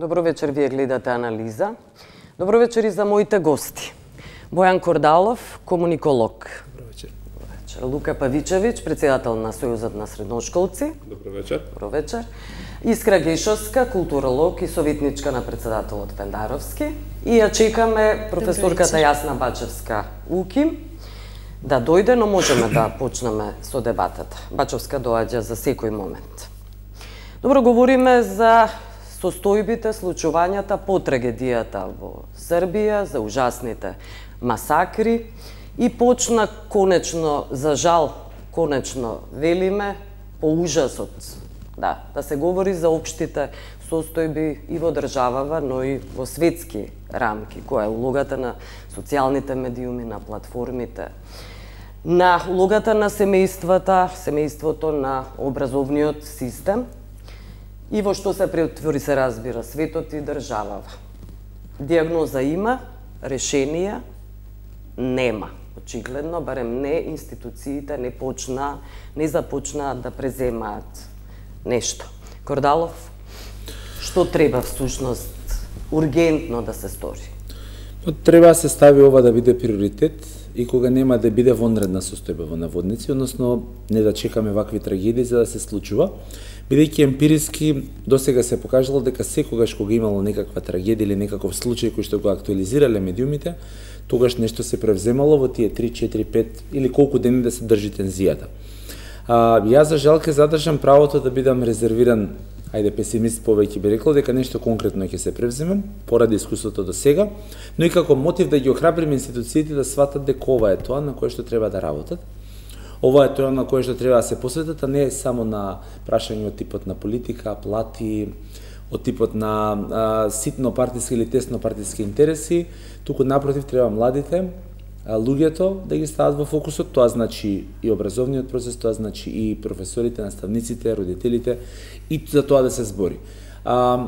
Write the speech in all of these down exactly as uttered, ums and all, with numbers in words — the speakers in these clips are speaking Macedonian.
Добро вечер, вие гледате Анализа. Добро вечер и за моите гости. Бојан Кордалов, комуниколог. Добро вечер. Добро вечер. Лука Павичевиќ, председател на Сојузот на средношколци. Добро вечер. Добро вечер. Искра Гешовска, културолог и советничка на председателот Фендаровски. И ја чекаме професорката Јасна Бачевска Уки да дојде, но можеме да почнеме со дебатата. Бачевска доаѓа за секој момент. Добро, говориме за состојбите, случувањата по трагедијата во Србија, за ужасните масакри и почна конечно, за жал, конечно велиме, по ужасот, да, да се говори за општите состојби и во државава, но и во светски рамки, која е улогата на социјалните медиуми, на платформите, на улогата на семејствата, семејството на образовниот систем, и во што се претвори, се разбира, светот и државава. Диагноза има, решенија нема. Очигледно, барем не институциите не почна, не започнаа да преземаат нешто. Кордалов, што треба всушност ургентно да се стори? Треба да се стави ова да биде приоритет и кога нема да биде вонредна состојба во наводници, односно не да чекаме вакви трагедии за да се случува. Бидејќи емпириски досега се покажало дека секогаш кога имало некаква трагедија или некаков случај кој што го актуализирале медиумите, тогаш нешто се превземало во тие три, четири, пет или колку дени да се држи тензијата. А, јас за жал ќе задржам правото да бидам резервиран, ајде песимист повеќе би рекол дека нешто конкретно ќе се превземем поради искуството до сега, но и како мотив да ги охрабрим институциите да сватат дека ова е тоа на кое што треба да работат. Ова е тоа на кое што треба да се посветат, а не само на прашање од типот на политика, плати, од типот на а, ситно партиски или тесно партиски интереси, туку напротив треба младите, а, луѓето да ги стават во фокусот, тоа значи и образовниот процес, тоа значи и професорите, наставниците, родителите, и за тоа да се збори. А,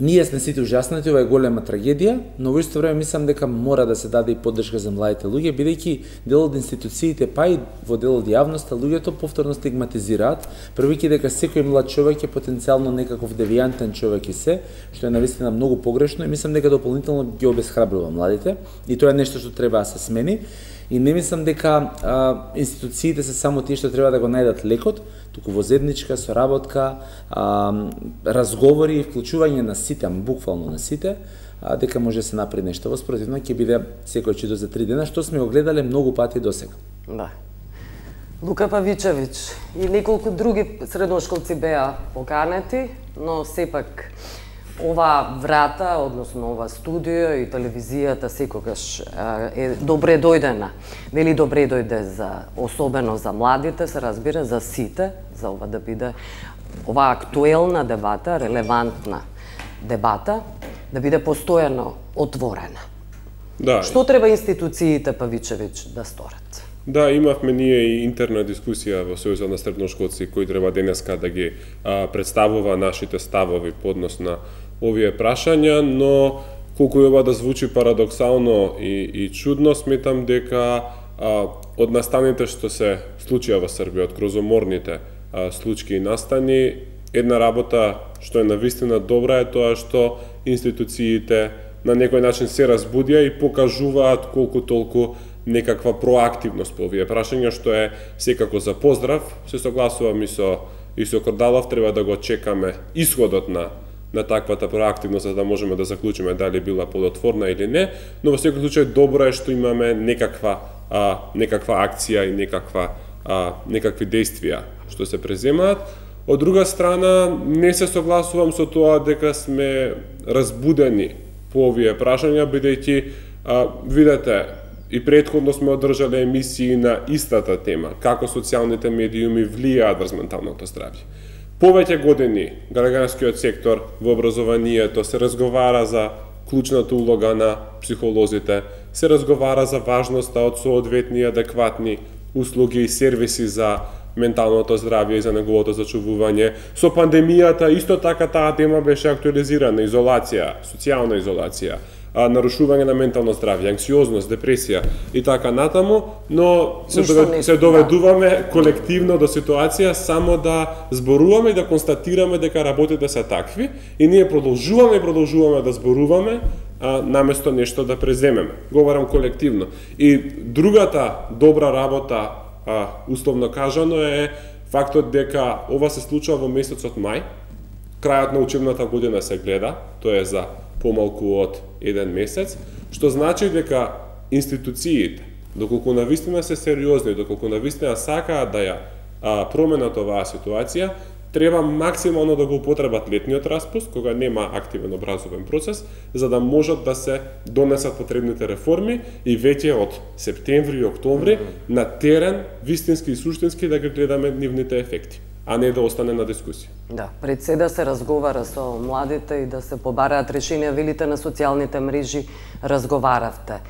Ние сме сите ужаснати, ова е голема трагедија, но во исто време мислам дека мора да се даде и поддршка за младите луѓе, бидејќи дел од институциите, па и во дел од јавноста, луѓето повторно стигматизираат, првејќи дека секој млад човек е потенцијално некаков девијантен човек и се, што е навистина многу погрешно и мислам дека дополнително ги обесхрабрува младите и тоа е нешто што треба да се смени. И не мислам дека а, институциите се само тие што треба да го најдат лекот, туку во заедничка соработка, а, разговори и вклучување на сите, буквално на сите, а, дека може да се направи нешто. Во спротивно ќе биде секој чудо за три дена, што сме го гледале многу пати досега. Да. Лука Павичевиќ и неколку други средношколци беа поканети, но сепак ова врата, односно ова студио и телевизијата секогаш е добре дојдена. Вели добре дојде за особено за младите, се разбира за сите, за ова да биде ова актуелна дебата, релевантна дебата, да биде постојано отворена. Да. Што треба институциите, Павичевиќ, да сторат? Да, имавме ние и интерна дискусија во Сојузот на средношколци кој треба денеска да ги а, представува нашите ставови по однос на овие прашања, но колку и ова да звучи парадоксално и, и чудно, сметам дека а, од настаните што се случија во Србија, од крозоморните а, случаи и настани, една работа што е навистина добра е тоа што институциите на некој начин се разбудија и покажуваат колку толку некаква проактивност по овие прашања, што е секако за поздрав. Се согласувам и со, и со Кордалов, треба да го чекаме исходот на, на таквата проактивност, за да можеме да заклучиме дали била плодотворна или не, но во секој случај добро е што имаме некаква, а, некаква акција и некаква, а, некакви действија што се преземаат. Од друга страна, не се согласувам со тоа дека сме разбудени по овие прашања, бидејќи, а, видете, и претходно сме одржале емисии на истата тема, како социјалните медиуми влијаат врз менталното здравје. Повеќе години граѓанскиот сектор во образованието се разговара за клучната улога на психолозите, се разговара за важноста од соодветни адекватни услуги и сервиси за менталното здравје и за неговото зачувување. Со пандемијата исто така таа тема беше актуализирана, изолација, социјална изолација, а, нарушување на ментално здравје, анксиозност, депресија и така натаму, но се, довед, се доведуваме да. колективно до ситуација само да зборуваме и да констатираме дека работите се такви и ние продолжуваме и продолжуваме да зборуваме а, наместо нешто да преземеме. Говорам колективно. И другата добра работа, а, условно кажано, е фактот дека ова се случува во месецот мај. Крајот на учебната година се гледа, тоа е за помалку од еден месец, што значи дека институциите, доколку навистина се сериозни, доколку навистина сакаат да ја а, променат оваа ситуација, треба максимално да го употребат летниот распуст, кога нема активен образовен процес, за да можат да се донесат потребните реформи и веќе од септември и октомври на терен, вистински и суштински да ги гледаме нивните ефекти, а не да остане на дискусија. Да, пред се да се разговара со младите и да се побараат решенија, велите на социјалните мрежи, разговаравте.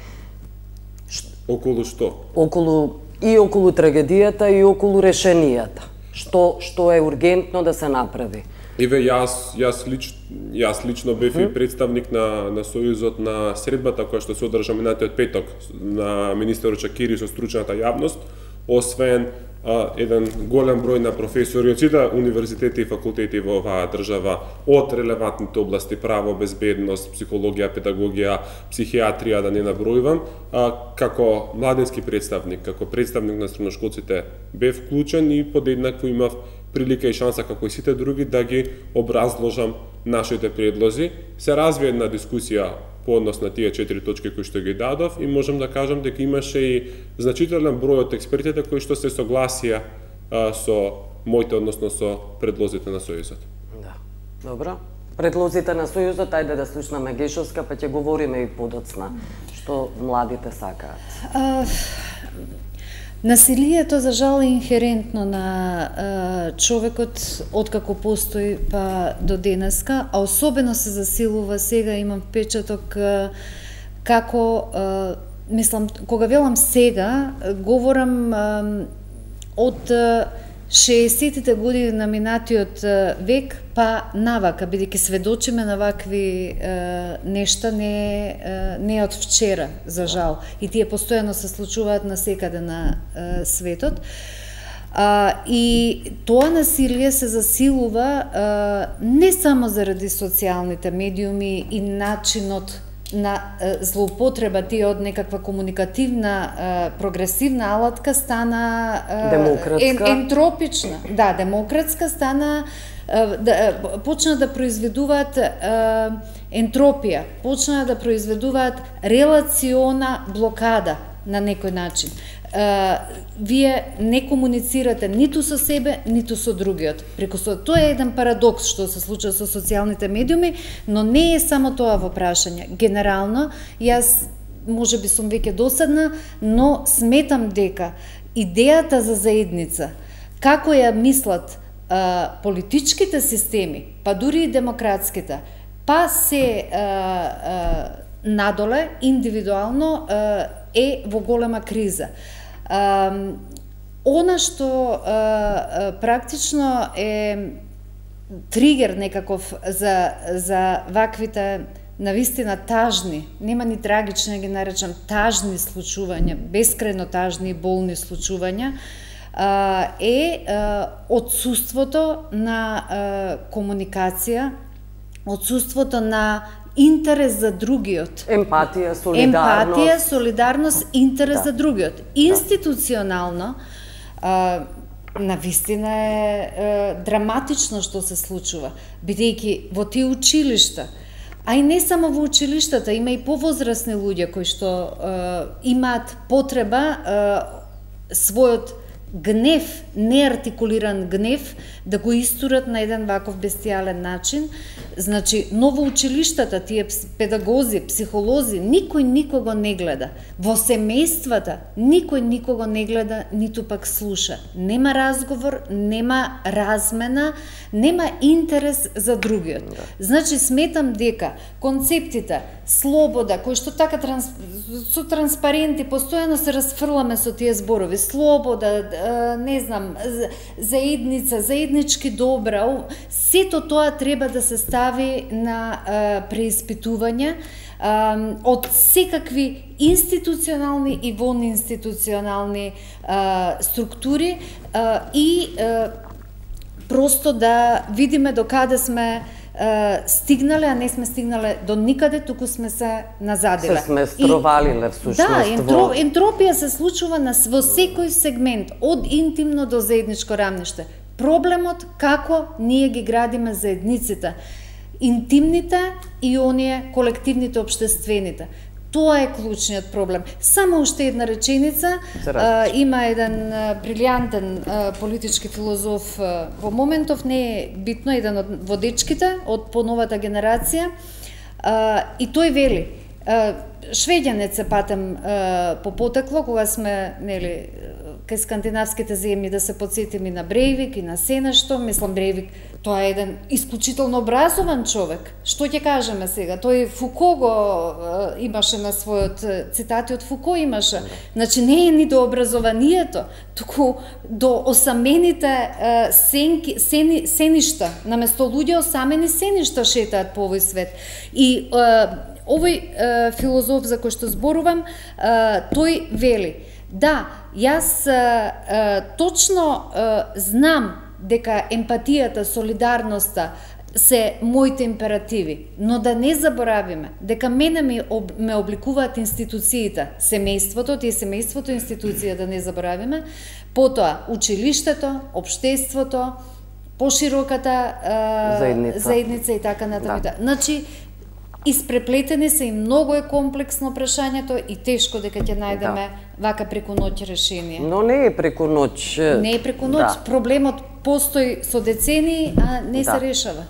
Околу што? Околу и околу трагедијата и околу решенијата. Што што е ургентно да се направи? Еве јас јас лично јас лично бев и представник на на Сојузот на средбата која што се одржа минатиот петок на министерот Чакири со стручната јавност, освен а, еден голем број на професори од сите универзитети и факултети во оваа држава од релевантните области право, безбедност, психологија, педагогија, психијатрија, да не набројувам, а, како младински представник, како представник на средношколците бев вклучен и подеднакво имав прилика и шанса како и сите други да ги образложам нашите предлози. Се развие една дискусија по однос на тие четири точки кои што ги дадов и можам да кажам дека имаше и значителен број од експертите кои што се согласија а, со моите, односно со предлозите на Сојузот. Да, добро. Предлозите на Сојузот, ајде да слушнаме Гешовска, па ќе говориме и подоцна што младите сакаат. Uh... Насилието, за жал, е инхерентно на а, човекот откако постои па до денеска, а особено се засилува сега, имам впечаток а, како, а, мислам, кога велам сега, говорам а, од а, шеесеттите години на минатиот век, па навака, бидејќи сведочиме на вакви е, нешта не, е, не од вчера, за жал. И тие постојано се случуваат насекаде на е, светот. А, и тоа насилие се засилува а, не само заради социјалните медиуми и начинот на е, злоупотреба, тие од некаква комуникативна, е, прогресивна алатка стана е, демократска. Ен, ентропична. Да, демократска стана, е, да, почна да произведуваат е, ентропија, почна да произведуваат релациона блокада на некој начин. Uh, вие не комуницирате ниту со себе, ниту со другиот. Преку со тоа е еден парадокс што се случува со социјалните медиуми, но не е само тоа во прашање. Генерално, јас можеби сум веќе досадна, но сметам дека идејата за заедница, како ја мислат uh, политичките системи, па дури и демократските, па се uh, uh, надоле, индивидуално, uh, е во голема криза. Uh, она што uh, uh, практично е тригер некаков за, за ваквите навистина тажни, нема ни трагични, ги наречам тажни случувања, бескрајно тажни и болни случувања, uh, е uh, отсуството на uh, комуникација, отсуството на интерес за другиот. Емпатија, солидарност. Емпатија, солидарност, интерес да. за другиот. Институционално, а, навистина е, е драматично што се случува, бидејќи во тие училишта, а и не само во училиштата, има и повозрасни луѓе кои што е, имаат потреба е, својот гнев, неартикулиран гнев, да го истурат на еден ваков бестијален начин. Значи, но во училиштата, тие педагози, психолози, никој никого не гледа. Во семејствата, никој никого не гледа, ниту пак слуша. Нема разговор, нема размена, нема интерес за другиот. Значи, сметам дека концептите слобода, кои што така транс... со транспаренти постојано се расфрламе со тие зборови, слобода, не знам, заедница, заеднички добра, сето тоа треба да се стави на преиспитување од секакви институционални и вонинституционални структури и просто да видиме до каде сме стигнале, а не сме стигнале до никаде, туку сме се назадиле. Се сме стровалиле всушност. Да, ентро, ентропија се случува на во секој сегмент, од интимно до заедничко рамниште. Проблемот како ние ги градиме заедниците, интимните и оние колективните, обштествените. Тоа е клучниот проблем. Само уште една реченица. А, има еден а, брилјантен а, политички филозоф а, во моментов, не е битно, еден од водечките од поновата генерација, а, и тој вели, а, швеѓанец се патем а, по потекло, кога сме, нели, кај скандинавските земји, да се подсетим и на Брејвик и на Сенешто. Мислам, Брејвик, тоа е еден исклучително образован човек. Што ќе кажеме сега? Тој Фуко го е, имаше на својот, цитати од Фуко имаше. Значи не е ни до образованието, туку до осамените е, сенки, сени, сеништа. Наместо луѓе осамени сеништа шетаат по овој свет. И е, овој е, филозоф за кој што зборувам, е, тој вели: да, јас е, е, точно е, знам дека емпатијата, солидарноста се моите императиви, но да не заборавиме дека мене ми об, ме обликуваат институциите, семејството, тие семејството институција, да не заборавиме, потоа училиштето, општеството, пошироката е, заедница. заедница и така натаму. Да. Значи, испреплетени се и многу е комплексно прашањето и тешко дека ќе најдеме да. вака преку ноќ решение. Но не е преку ноќ. Не е преку ноќ. Да. Проблемот постои со децени, а не да. се решава.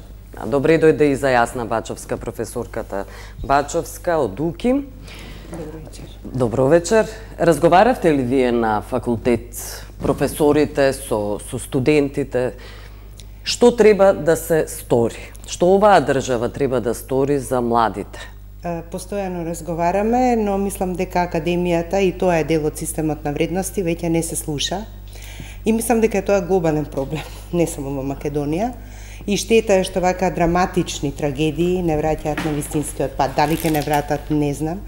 Добре дојде и за Јасна Бачовска, професорката Бачовска од УКИМ. Добро вечер. Добро вечер. Разговаравте ли вие на факултет, професорите, со, со студентите? Што треба да се стори? Што оваа држава треба да стори за младите? Постојано разговараме, но мислам дека академијата, и тоа е дел од системот на вредности, веќе не се слуша. И мислам дека тоа е глобален проблем, не само во Македонија. И штета е што вака драматични трагедии не враќаат на вистинскиот пат. Дали ќе не вратат, не знам.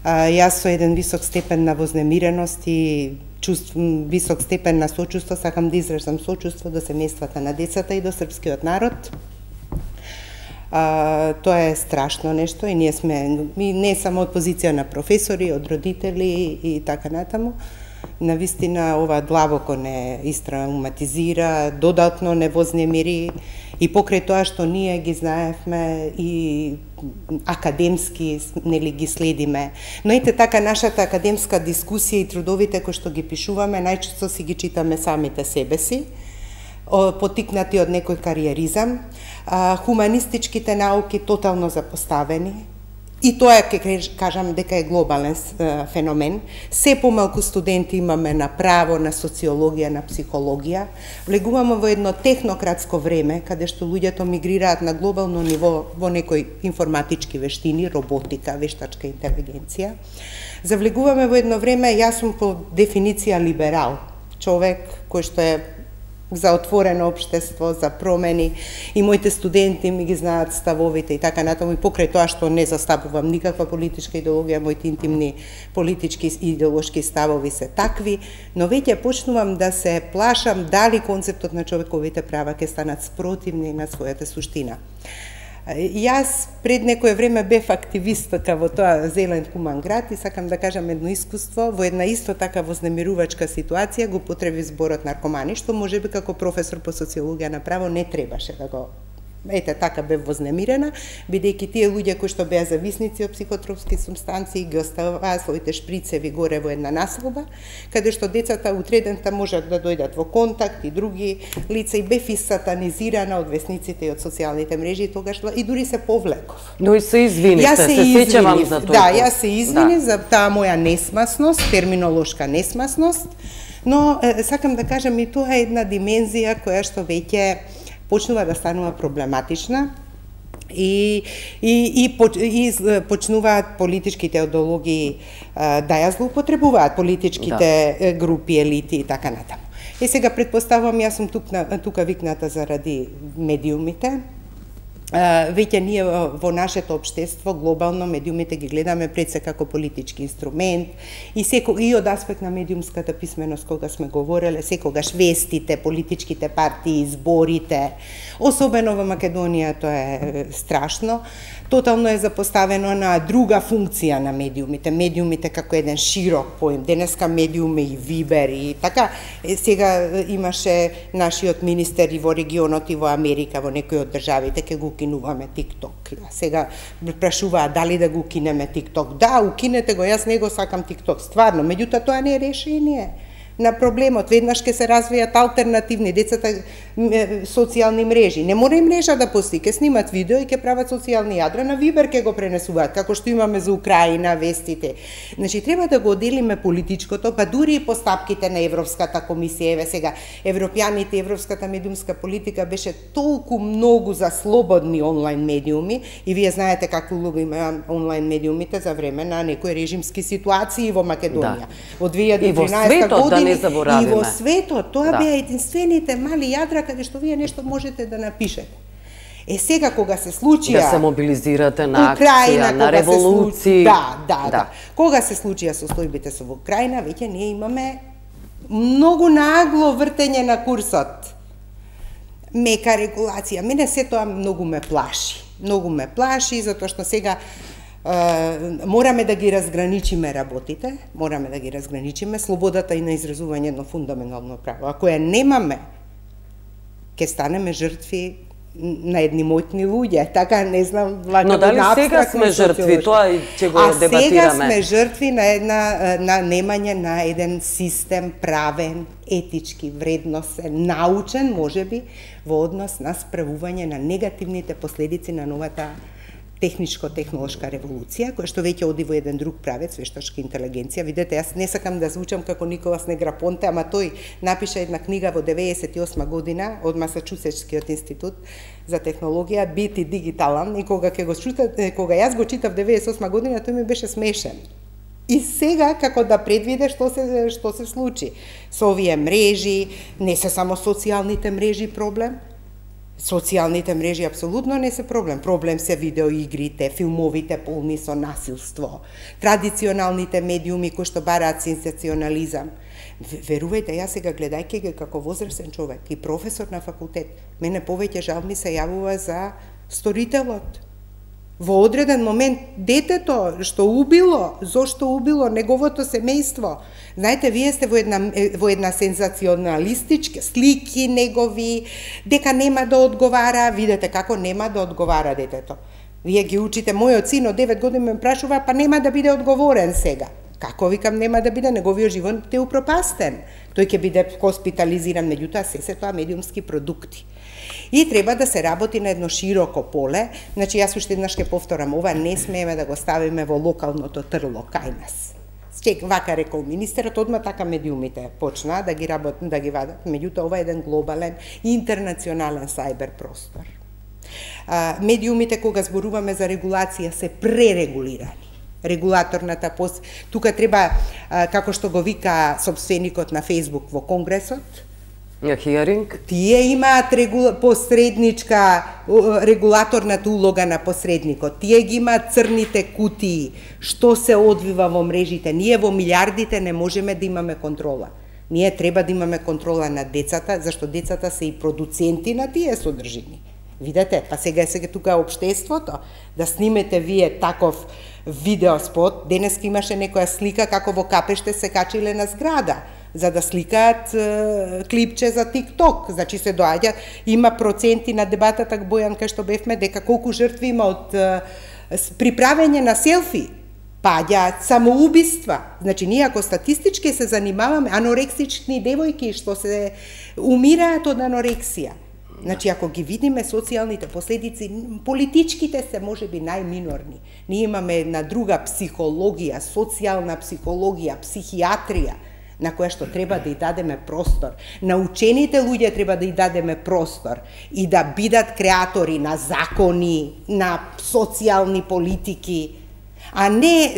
А, јас со еден висок степен на вознемиреност и чувств, висок степен на сочувство сакам да изразам сочувство до семејствата на децата и до српскиот народ. А, тоа е страшно нешто и ние сме, и не само од позиција на професори, од родители и така натаму. Навистина ова длабоко не истравматизира, додатно не вознемири и покрај тоа што ние ги знаевме и академски, нели, ги следиме. Но ете така нашата академска дискусија и трудовите кои што ги пишуваме, најчесто си ги читаме самите себе си, потикнати од некој кариеризам, хуманистичките науки тотално запоставени. И тоа ќе кажам дека е глобален феномен. Се помалку студенти имаме на право, на социологија, на психологија. Влегуваме во едно технократско време, каде што луѓето мигрираат на глобално ниво во некои информатички вештини, роботика, вештачка интелигенција. Завлегуваме во едно време, јас сум по дефиниција либерал, човек кој што е за отворено општество, за промени, и моите студенти ми ги знаат ставовите и така натаму, и покрај тоа што не застапувам никаква политичка идеологија, моите интимни политички и идеолошки ставови се такви, но веќе почнувам да се плашам дали концептот на човековите права ќе станат спротивни на својата суштина. Јас пред некое време бев активистка во тоа зелен хуман град и сакам да кажам едно искуство. Во една исто така вознемирувачка ситуација го потреби зборот наркомани, што можеби како професор по социологија на право не требаше да го... Ете, така бев вознемирена, бидејќи тие луѓе кои што беа зависници од психотропски субстанции ги оставаа своите шприцеви горе во една населба, каде што децата утредента можат да дојдат во контакт и други лица, и бев и сатанизирана од весниците и од социјалните мрежи, тогаш и дури се повлеков. Но и се извините, се, се сеќавам за тоа. Да, јас се извинив да. за таа моја несмасност, терминолошка несмасност, но е, сакам да кажам и тоа е една димензија која што веќе почнува да станува проблематична и, и, и, и почнуваат политичките идеологии да ја злоупотребуваат политичките да. групи, елити и така натаму. И сега предпоставувам, јас сум тук, тука викната заради медиумите, веќе ние во нашето општество глобално медиумите ги гледаме пред се како политички инструмент и секогаш и од аспект на медиумската писменост кога сме говореле, секогаш вестите, политичките партии, изборите, особено во Македонија тоа е страшно, тотално е запоставено на друга функција на медиумите, медиумите како еден широк поим. Денеска медиуми и Вибер и така, сега имаше нашиот министер и во регионот и во Америка, во некои од државите ќе го укинуваме TikTok. Сега прашуваат дали да го укинеме TikTok. Да, укинете го, јас не го сакам TikTok, стварно, меѓутоа тоа не е решение на проблемот. Веднаш ќе се развијат алтернативни децата социјални мрежи. Не мора и мрежа да постои, ќе снимат видео и ќе прават социјални јадра, на Вибер ќе го пренесуваат, како што имаме за Украина, вестите. Значи, треба да го отделиме политичкото, па дури и постапките на Европската комисија. Еве сега, европјаните, европската медиумска политика беше толку многу за слободни онлайн медиуми и вие знаете каква улога има онлайн медиумите за време на некои режимски ситуации во Македонија. Да. Во две илјади и тринаесета година да и во светот, тоа да. беа единствените мали јадра каде што вие нешто можете да напишете. Е сега кога се случија да се мобилизирате на акција, на револуции. Да, да, да, да. Кога се случија состојбите со во Украина, веќе ние имаме многу нагло вртење на курсот. Мека регулација. Мене се тоа многу ме плаши. Многу ме плаши затоа што сега Uh, мораме да ги разграничиме работите, мораме да ги разграничиме, слободата и на изразување едно фундаментално право. Ако ја немаме, ќе станеме жртви на едни моćни луѓе, така не знам, вака но дали сега сме жртви, тоа ќе го а дебатираме. А сега сме жртви на една на немање на еден систем правен, етички, вредносен, научен, можеби, во однос на справување на негативните последици на новата техничко-технолошка револуција, која што веќе оди во еден друг правец, вештачка интелигенција. Видете, јас не сакам да звучам како Николас Неграпонте, ама тој напиша една книга во деветдесет и осма година од Масачусетскиот институт за технологија, Бити дигиталан, и кога ќе го читав, кога јас го читав деветдесет и осма година, тој ми беше смешен. И сега како да предвиде што се што се случи со овие мрежи, не се само социјалните мрежи проблем. Социјалните мрежи апсолутно не се проблем. Проблем се видеоигрите, филмовите полни со насилство, традиционалните медиуми кои што бараат сензационализам. Верувајте, јас сега гледајќи ги како возрастен човек и професор на факултет, мене повеќе жал ми се јавува за сторителот. Во одреден момент детето што убило, зошто убило неговото семејство. Знаете, вие сте во една во една сензационалистичка слики негови, дека нема да одговара, видете како нема да одговара детето. Вие ги учите, мојот син од девет години ме прашува, па нема да биде одговорен сега. Како викам нема да биде, неговиот живот е упропастен. Тој ќе биде хоспитализиран, меѓутоа се се тоа медиумски продукти. И треба да се работи на едно широко поле. Значи, јас уште еднаш ќе повторам, ова не смееме да го ставиме во локалното трло кај нас. Чек, вака рекол министерот, одма така медиумите почна да ги работат, да ги вадат. Меѓутоа, ова е еден глобален и интернационален сајбер простор. А, медиумите, кога зборуваме за регулација, се пререгулирани. Регулаторната пост... Тука треба, а, како што го вика собственикот на Facebook во Конгресот, Хиеринг. Тие имаат регула... посредничка, регулаторната улога на посредникот. Тие ги имаат црните кутии, што се одвива во мрежите. Ние во милиардите не можеме да имаме контрола. Ние треба да имаме контрола на децата, зашто децата се и продуценти на тие содржини. Видете, па сега е сега тука општеството, да снимете вие таков видеоспот. Денес имаше некоја слика како во Капеште се качиле на зграда за да сликаат е, клипче за TikTok. Значи се доаѓа, има проценти на дебатата Бојан кај што бевме дека колку жртви има од е, приправење на селфи, паѓаат самоубиства. Значи ние ако статистички се занимаваме, анорексични девојки што се умираат од анорексија. Значи, ако ги видиме социјалните последици, политичките се можеби најминорни. Ние имаме една друга психологија, социјална психологија, психијатрија, на која што треба да ја дадеме простор. На учените луѓе треба да ја дадеме простор и да бидат креатори на закони, на социјални политики, а не,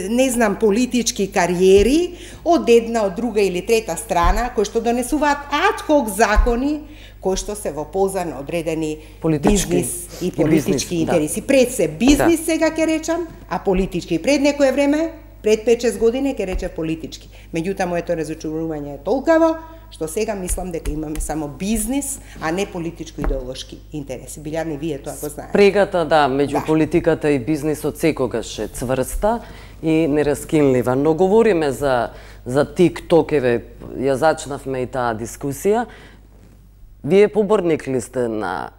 не знам, политички кариери од една, од друга или трета страна, кои што донесуваат ад хок закони, кои што се во полза на одредени Политички. бизнис и И политички бизнис, интереси. Да. Пред се бизнис Да. сега ќе речам, а политички. Пред некое време, пред пет-шест години ќе рече политички. Меѓутоа моето разочарување е толкаво што сега мислам дека имаме само бизнис, а не политичко-идеолошки интереси. Билјарни, вие тоа го знаете. Прегата, да, меѓу Да. политиката и бизнисот секогаш е цврста и нераскинлива. Но говориме за за TikTok, еве, ја зачнавме и таа дискусија. Вие поборник ли сте на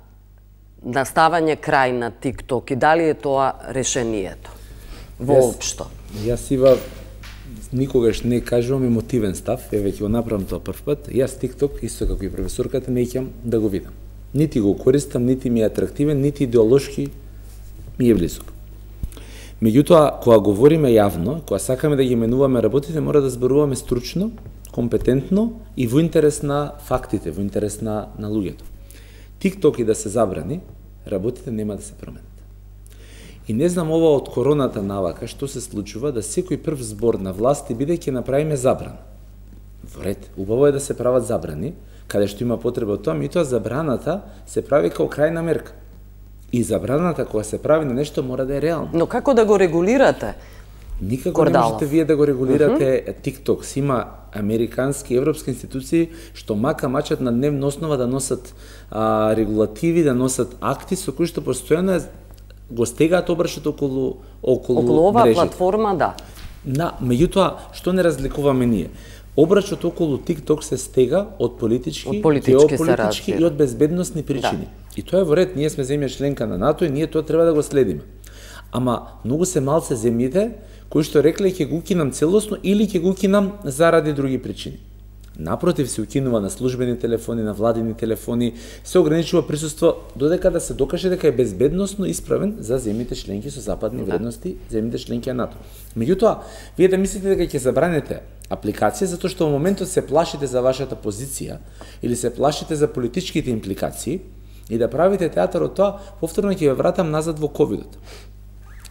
на ставање крај на TikTok и дали е тоа решението? Воопшто. Јас ива никогаш не кажувам емотивен став, еве ќе го направам тоа прв пат. Јас TikTok, исто како и професорката, не ќе да го видам. Нити го користам, нити ми е атрактивен, нити идеолошки ми е близок. Меѓутоа, кога говориме јавно, кога сакаме да ги менуваме работите, мора да зборуваме стручно, компетентно и во интерес на фактите, во интерес на, на луѓето. TikTok и да се забрани, работите нема да се променат. И не знам ова од короната навака што се случува да секој прв збор на власти биде ќе направиме забрана. Во ред, убаво е да се прават забрани, каде што има потреба од тоа, меѓутоа забраната се прави као крајна мерка. И забраната кога се прави на нешто мора да е реално. Но како да го регулирате? Никако Кордалов. не можете вие да го регулирате uh -huh. TikTok. Си има американски и европски институции што мака мачат на дневна основа да носат а, регулативи, да носат акти со кои што постојано го стегаат обршот околу околу, Околу оваа мрежите. платформа, да. На, меѓутоа, што не разликуваме ние? Обрачот околу TikTok се стега од политички, Од политички се геополитички разбира. и од безбедносни причини. Да. И тоа е во ред, ние сме земја членка на НАТО и ние тоа треба да го следиме. Ама многу се малце земјите кои што рекле ќе го укинам целосно или ќе го укинам заради други причини. Напротив, се укинува на службени телефони, на владини телефони, се ограничува присуство додека да се докаже дека е безбедносно исправен за земјите членки со западни Да. вредности, земјите членки на НАТО. Меѓутоа, вие да мислите дека ќе забранете апликација затоа што во моментот се плашите за вашата позиција или се плашите за политичките импликации и да правите театар од тоа, повторно ќе ве вратам назад во ковидот.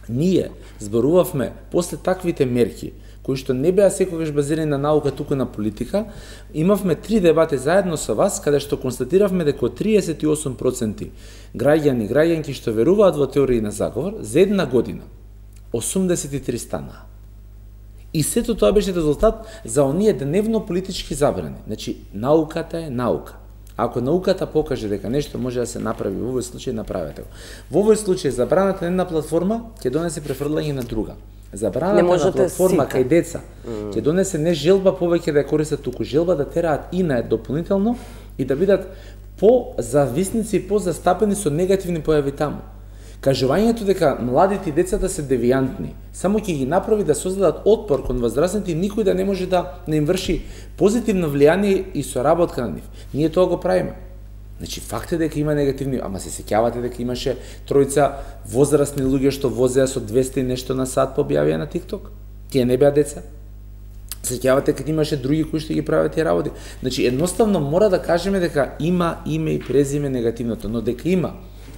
Ние зборувавме после таквите мерки кои што не беа секогаш базирани на наука, туку на политика, имавме три дебати заедно со вас, каде што констатиравме дека триесет и осум проценти граѓани, граѓанки што веруваат во теории на заговор, за една година осумдесет и три станаа. И сето тоа беше резултат за оние дневно политички забрани. Значи, науката е наука. Ако науката покаже дека нешто може да се направи, во овој случај направете го. Во овој случај забраната на една платформа ќе донесе префрлање на друга. Забраната на платформа сите. кај деца ќе донесе не желба повеќе да ја користат, туку желба да тераат и на дополнително и да бидат по-зависници и по-застапени со негативни појави таму. Кажувањето дека младите и децата се девијантни, само ќе ги направи да создадат отпор кон возрастните и никој да не може да не им врши позитивно влијание и соработка на нив. Ние тоа го правиме. Значи, факт е дека има негативни, ама се сеќавате дека имаше тројца возрастни луѓе што возеа со двесте и нешто на сат по објавија на TikTok. Тие не беа деца. Сеќавате дека имаше други кои што ги прават тие работи. Значи, едноставно мора да кажеме дека има име и презиме негативното, но дека има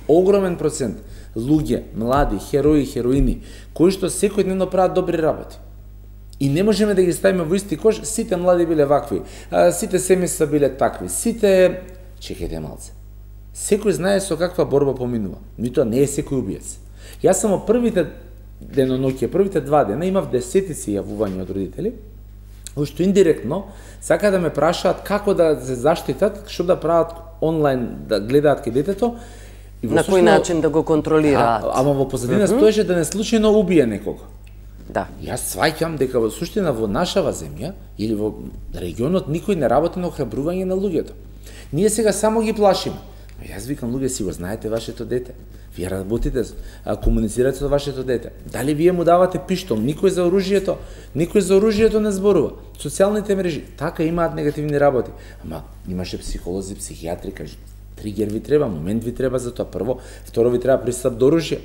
огромен процент луѓе, млади, херои, хероини, кои што секојдневно прават добри работи. И не можеме да ги ставиме во исти кош, сите млади биле вакви, а, сите семејства биле такви, сите... Чекајте малце. Секој знае со каква борба поминува. Ни тоа не е секој убиец. Јас само првите деноноќи, првите два дена имав десетици јавувања од родители, кои што индиректно сака да ме прашаат како да се заштитат, што да прават онлайн, да гледаат кај детето. И На кој начин да го контролираат? А, ама во позадина mm -hmm. стоеше да не случајно убие некого. Да. Јас сваќам дека во суштина во нашава земја или во регионот никој не работи на охрабрување на луѓето. Ние сега само ги плашиме. Но јас викам, луѓе, си го знаете вашето дете. Вие работите, а, комуницирате со вашето дете. Дали вие му давате пиштол? Никој за оружјето, никој за оружјето не зборува. Социјалните мрежи, така имаат негативни работи. Ама имаше психолози, психијатри, кажи, тригер ви треба, момент ви треба за тоа. Прво, второ ви треба пристап до оружје.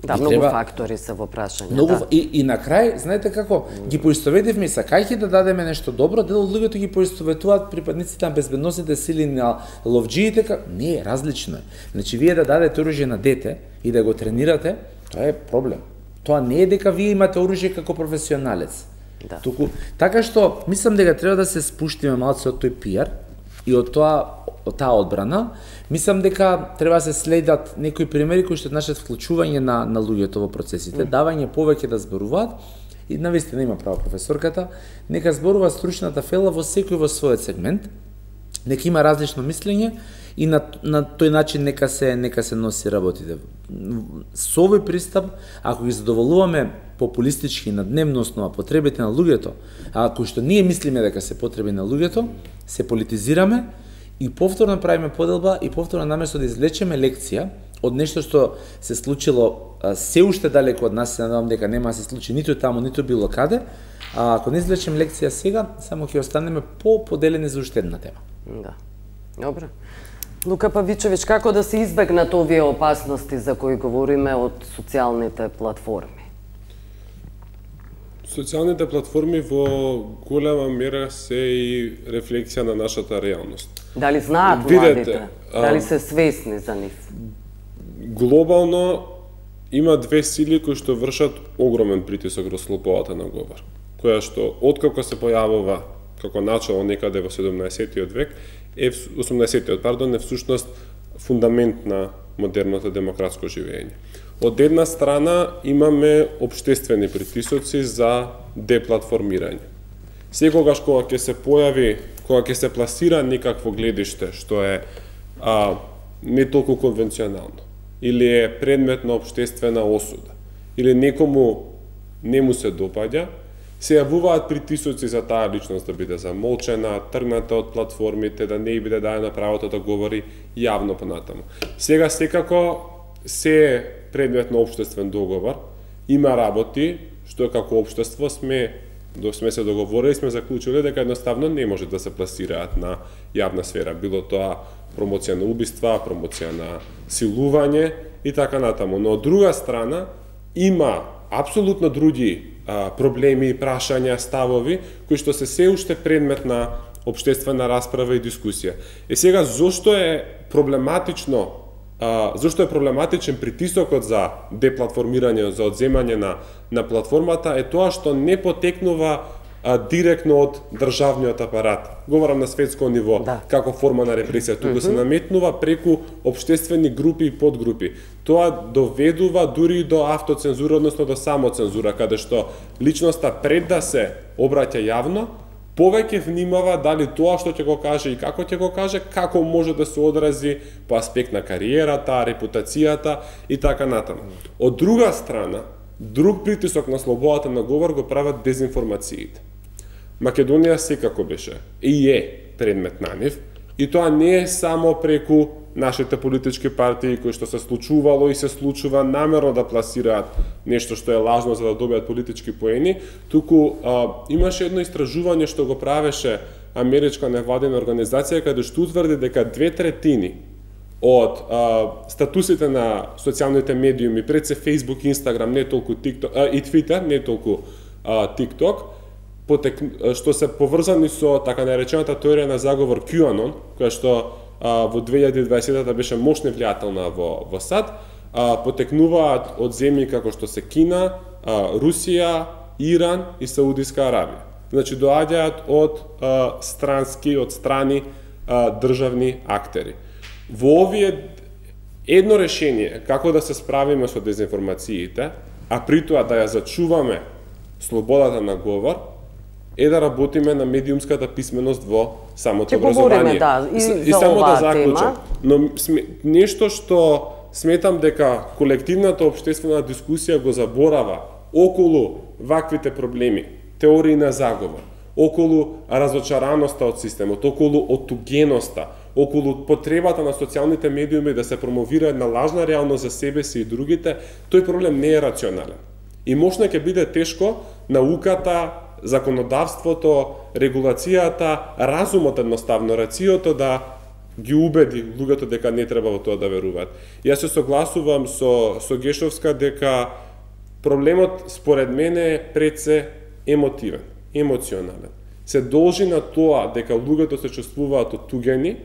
Да, Ви многу треба... фактори се во прашање. Многу, Да. и, и на крај, знаете како, ги поистоветивме и сакајќи да дадеме нешто добро, дел од луѓето ги поистоветуваат припадниците на безбедносните сили, на ловџиите, ка... не, различно е. Значи, вие да дадете оружје на дете и да го тренирате, тоа е проблем. Тоа не е дека вие имате оружје како професионалец. Да. Туку, така што, мислам дека треба да се спуштиме малце од тој пиар и од тоа од таа одбрана, мислам дека треба да се следат некои примери кои што значат вклучување на на луѓето во процесите, mm. давање повеќе да зборуваат и навистина има право професорката, нека зборува стручната фела во секој во својот сегмент, нека има различно мислење и на на тој начин нека се нека се носи работите. Со овој пристап, ако ги задоволуваме популистички на дневна основа потребите на луѓето, а ако што ние мислиме дека се потреби на луѓето, се политизираме и повторно правиме поделба и повторно наместо да извлечеме лекција од нешто што се случило се уште далеко од нас, се надевам дека нема да се случи ниту таму, ниту било каде, а ако не извлечем лекција сега, само ќе останеме по-поделени за уште една тема. Да. Добро. Лука Павичовиќ, како да се избегнат овие опасности за кои говориме од социјалните платформи? Социјалните платформи во голема мера се и рефлексија на нашата реалност. Дали знаат младите? Дали се свесни за нив? Глобално има две сили кои што вршат огромен притисок врз слободата на говор, која што откако се појавува како начало некаде во седумнаесеттиот век, е осумнаесеттиот, пардон, е всушност фундамент на модерното демократско живење. Од една страна имаме општествени притисоци за деплатформирање. Секогаш кога ќе се појави, кога ќе се пласира некакво гледиште што е а, не толку конвенционално, или е предмет на општествена осуда, или некому не му се допаѓа, се јавуваат притисоци за таа личност да биде замолчена, тргната од платформите, да не биде дајано правото да говори јавно понатаму. Сега секако се е предмет на општествен договор, има работи што како општество сме до сме се договорили, сме заклучили дека едноставно не може да се пласираат на јавна сфера, било тоа промоција на убиства, промоција на силување и така натаму. Но од друга страна има апсолутно други а, проблеми, прашања, ставови кои што се се уште предмет на општествена расправа и дискусија. Е сега зошто е проблематично а, зошто е проблематичен притисокот за деплатформирање, за одземање на на платформата е тоа што не потекнува а, директно од државниот апарат. Говорам на светско ниво, да. Како форма на репресија, туку mm-hmm. се наметнува преку општествени групи и подгрупи. Тоа доведува дури и до автоцензура, односно до самоцензура, каде што личноста пред да се обраќа јавно, повеќе внимава дали тоа што ќе го каже и како ќе го каже, како може да се одрази по аспект на кариерата, репутацијата и така натаму. Од друга страна, друг притисок на слободата на говор го прават дезинформациите. Македонија секако беше и е предмет на нив, и тоа не е само преку нашите политички партии кои што се случувало и се случува намерно да пласираат нешто што е лажно за да добијат политички поени, туку а, имаше едно истражување што го правеше америчка невладина организација каде што утврди дека две третини од а, статусите на социјалните медиуми, пред се Facebook, Instagram, не толку TikTok, а, и Twitter, не толку а, TikTok, потек, што се поврзани со така наречената теорија на заговор QAnon, која што а, во две илјади и дваесетта беше мощно влијателна во, во САД, а, потекнуваат од земји како што се Кина, а, Русија, Иран и Саудиска Арабија. Значи доаѓаат од а, странски, од страни а, државни актери. Во овие едно решение како да се справиме со дезинформациите, а при тоа да ја зачуваме слободата на говор, е да работиме на медиумската писменост во самото образование. Да, и, и само да заклучам, но сме, нешто што сметам дека колективната општествена дискусија го заборава околу ваквите проблеми, теории на заговор, околу разочараноста од системот, околу отугеноста, околу потребата на социјалните медиуми да се промовира една лажна реалност за себе си и другите, тој проблем не е рационален. И можна ќе биде тешко науката, законодавството, регулацијата, разумот едноставно, рациото да ги убеди луѓето дека не треба во тоа да веруваат. Јас се согласувам со, со Гешовска дека проблемот според мене е пред се емотивен, емоционален. Се должи на тоа дека луѓето се чувствуваат оттугени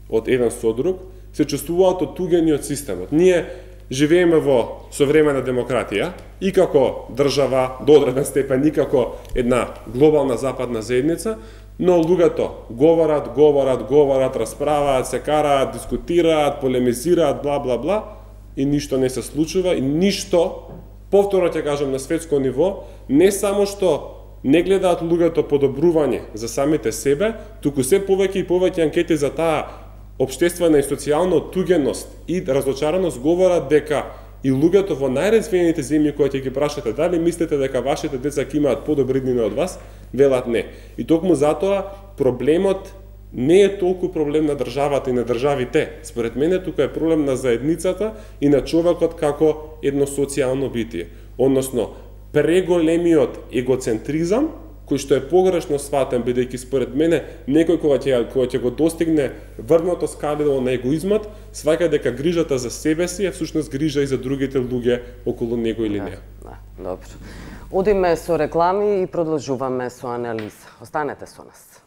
од еден со друг, се чувствуваат оттугени од системот. Ние живееме во современа демократија и како држава до одреден степен и како една глобална западна заедница, Но луѓето говорат, говорат, говорат, расправаат, се караат, дискутираат, полемизираат, бла бла бла и ништо не се случува и ништо, повторно ќе кажам на светско ниво, не само што не гледаат луѓето подобрување за самите себе, туку се повеќе и повеќе анкети за таа општествена и социјална оттугеност и разочараност говорат дека и луѓето во најразвиените земји кои ќе ги прашате дали мислите дека вашите деца ќе имаат подобри дни од вас, велат не. И токму затоа проблемот не е толку проблем на државата и на државите. Според мене тука е проблем на заедницата и на човекот како едно социјално битие. Односно, преголемиот егоцентризам, кој што е погрешно сватен, бидејќи според мене некој кога ќе кога ќе го достигне врвното скалило на егоизмот, сваќа дека грижата за себе си е всушност грижа и за другите луѓе околу него или не. Да, добро. Одиме со реклами и продолжуваме со анализа. Останете со нас.